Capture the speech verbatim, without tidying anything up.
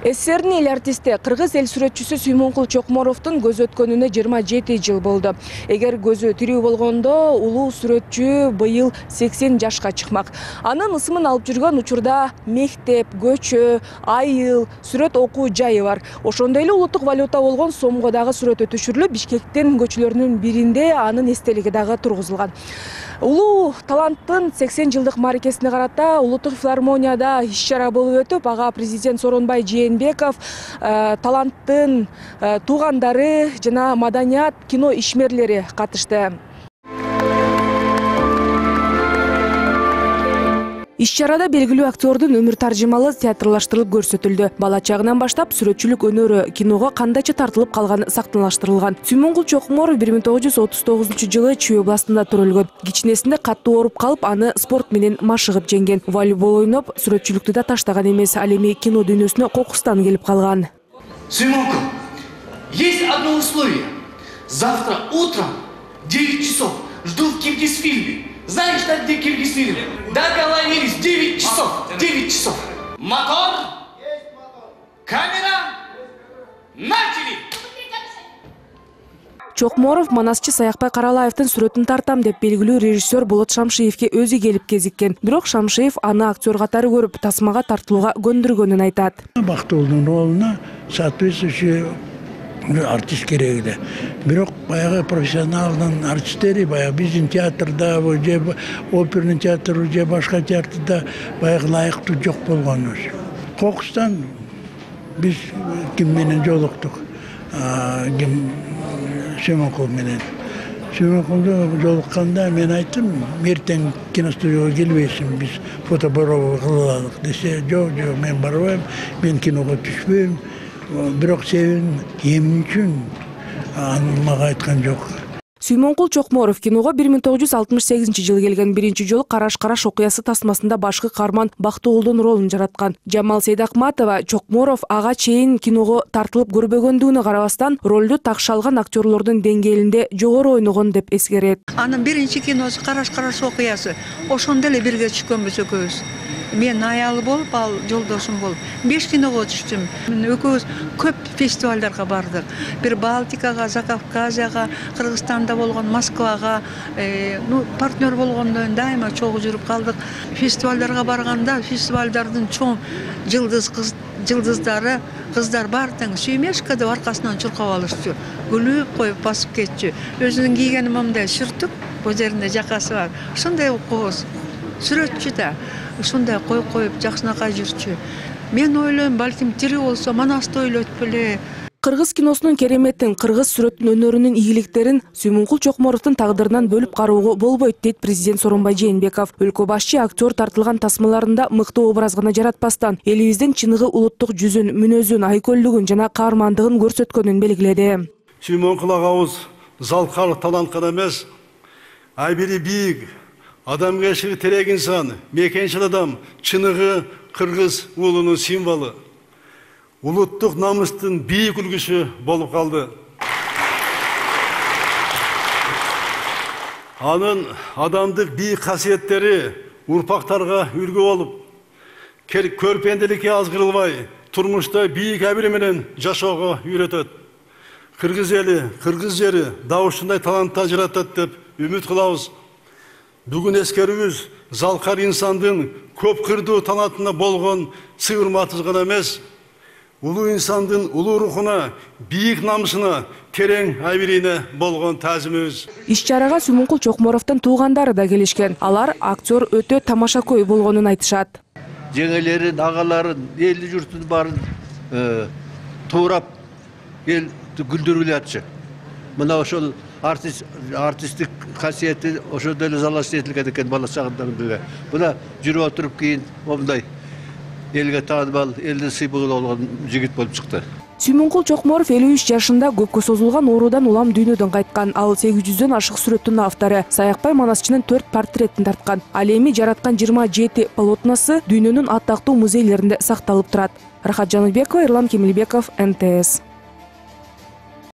СССРдин эл артисти, кыргыз эл сүрөтчүсү Сүймөнкул Чокморовдун көзү өткөнүнө жыйырма жети жыл болду. Эгер көзү тирүү болгондо, улуу сүрөтчү быйыл сексен жашка чыкмак. Анын ысымын алып жүргөн учурда мектеп, көчө, айыл, сүрөт окуу жайы бар. Ошондой эле улуттук валюта болгон сомго дагы сүрөтү түшүрүлүп, Бишкектин көчөлөрүнүн биринде анын эстелиги дагы тургузулган. Улуу таланттын сексен жылдык мааракесине карата улуттук филармонияда иш-чара болуп өтүп, ага президент Сооронбай Жээнбеков, э, таланттын э, туугандары жана маданият, кино ишмерлери катышты. Иш-чарада белгилүү актёрдун өмүр таржымалы театрлаштырылып көрсөтүлдү. Бала чагынан баштап сүрөтчүлүк өнөрү киного кандайча тартылып калганы сактаныштырылган. Сүймөнкул Чокморов бир миң тогуз жүз отуз тогузунчу жылы Чүй областында төрөлгөн. Кичинесинде катуу ооруп калып, аны спорт менен машыгып жеңген. Волейбол ойноп, сүрөтчүлүктү да таштаган эмес, ал эми кино дүйнөсүнө кокустан келип калган. Сүймөнкул, есть одно условие. Завтра утром в девять часов жду в Киргизфильме. Знаешь, да, где Киргизфильм? Договорились, девять часов, девять часов. Мотор, камера, начали! Чокморов манасчы Саякбай Каралаевдин сүрөтүн тартам деп белгилүү режиссер Болот Шамшиевке өзү келип кезиккен. Бирок Шамшиев аны актер катары көрүп, тасмага тартылууга көндүргөнүн айтат. Бактуулдун ролуна соответствующий артист керек эле. Бирок баягы профессионалдын артисттери, баягы биздин театрда, же оперный театр, же башка театрда баягы лайыктуу жок болгонбуз. Кокустан биз ким менен жолуктук? Ким Сүймөнкул менен. Сүймөнкулду жолукканда мен айттым, эртең киностудияга келбейсиң, биз фотобороо кылалык десе, жок, жок, мен барбайм, мен киного түшпөйм. Бирок себебин эмне үчүн аны мага айткан жок. Сүймөнкул Чокморов киного бир миң тогуз жүз алтымыш сегизинчи жылы келген. Биринчи жолу Караш-Караш окуясы тасмасында башкы каарман Бактыгулдун ролун жараткан. Жамал Сейдакматова Чокморов ага чейин киного тартылып көрбөгөндүгүнө карабастан, ролду такшы алган актерлордун деңгээлинде жогору ойногон деп эскерет. Анын биринчи киносу Караш-Караш окуясы. Ошондо эле бирге түшкөнбүз экөөбүз. Мен аялы болуп, ал жолдошум болуп, беш киного түштүм. Мен экөөбүз көп фестивалдарга бардык. Бир Балтикага, Закавказьяга, Кыргызстанда болгон, Москвага, э, ну, партнер болгондон дайыма чогуу жүрүп калдык. Фестивалдарга барганда, фестивалдардын чоң жылдыз кыз жылдыздары, кыздар бар тең Сүймешка деп аркасынан чуркап алышчу. Күлүп коюп басып кетчү. Өзүнүн кийгени мындай сүртүк, бул жеринде жакасы бар. Ошондой кооз. Сүрөтчү да ушундай коюп коюп жакшынакай жүрчү. Мен ойлойм, балким тирүү болсо манасты ойлойт беле. Кыргыз киносунун кереметтин, кыргыз сүрөттүн өнөрүнүн ийгиликтерин Сүймөнкул Чокморовдун тагдырынан бөлүп кароого болбойт, дейт президент Сооронбай Жээнбеков. Өлкө башчы актер тартылган тасмаларында мыкты образ гана жаратпастан, элибиздин чыныгы улуттук жүзүн, мүнөзүн, айкөлдүгүн жана каармандыгын көрсөткөнүн белгиледи. Сүймөнкул агабыз залкар талант гана эмес, айбири бийик, адамгерчилиги терек инсан, мекенчил адам, чыныгы кыргыз уулунун символу. Улуттук намыстын бийик үлгүсү болуп калды. Анын адамдык бийик касиеттери урпактарга үлгү болуп, көрпендиликке азгырылбай, турмушта бийик абил менен жашоого үйрөтөт. Кыргыз эли, кыргыз жери дагы ушундай таланттар жаратат деп үмүт кылабыз. Бүгүн эскерүүбүз залкар инсандын көп кырдуу талантына болгон сыйырматыз гана эмес, улуу инсандын улуу рухуна, бийик намысына, терең абирине болгон таазимибиз. Иш-чарага Сүймөнкул Чокморовдун туугандары да келишкен. Алар актер өтө тамашакөй болгонун айтышат. Жеңелерин, агаларын, элди журтун баарын туурап, эл гүлдүрүп атчы. Мына ошол артист артисттик касиети ошондой эле залаштырып этилген экен бала чагынан беле. Мына жүрүп отуруп кийин момундай элге таанымал, элдин сыймыгы болгон жигит болуп чыкты. Сүймөнкул Чокморов элүү үч жашында көпкө созулган оорудан улам дүйнөдөн кайткан. Ал сегиз жүздөн ашык сүрөттүн автору. Саякбай манасчынын төрт портреттин тарткан. Ал эми жараткан жыйырма жети полотносы дүйнөнүн аттактуу музейлеринде сакталып турат. Рахат Жаныбекова, Эрлан Кемелбеков, Н Т С.